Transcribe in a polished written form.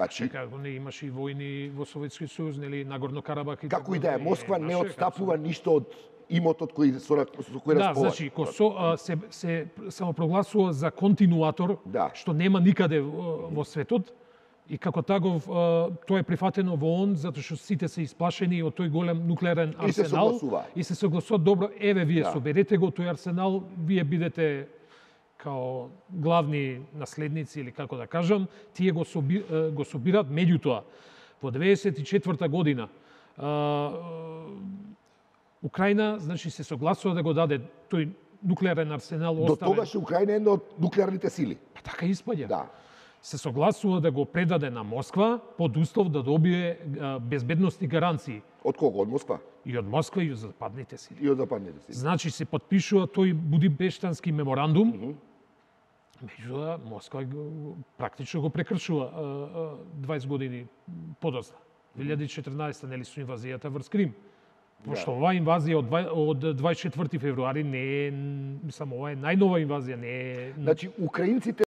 Значи, Како не имаше и војни во Советскиот сојуз, нели, Нагорно Карабах и како и да е, Москва не отстапува ништо од имотот кој со кој да, располага. значи, се самопрогласува за континуатор, Да. што нема никаде во светот, и како таков тоа е прифатено во ООН затоа што сите се исплашени од тој голем нуклеарен арсенал И се согласува. и се согласуваат, добро, еве вие Да. соберете го тој арсенал, вие бидете као главни наследници или како да кажам, тие го собираат. Меѓутоа, во 94 година Украина, значи, се согласува да го даде тој нуклеарен арсенал До оставен. тогаш Украина е една од нуклеарните сили. Па така испаѓа. Да. Се согласува да го предаде на Москва под услов да добие безбедностни гаранции Од кого? Од Москва? и од Москва и од западните сили. И од западните сили. Значи се подпишува тој Будимпештански меморандум. Меѓутоа Москва практично го прекршува 20 години подоцна. 2014 нели со инвазијата врз Крим. Пошто оваа инвазија од 24 февруари не е, мислам, ова е најнова инвазија, не е... Значи, украинците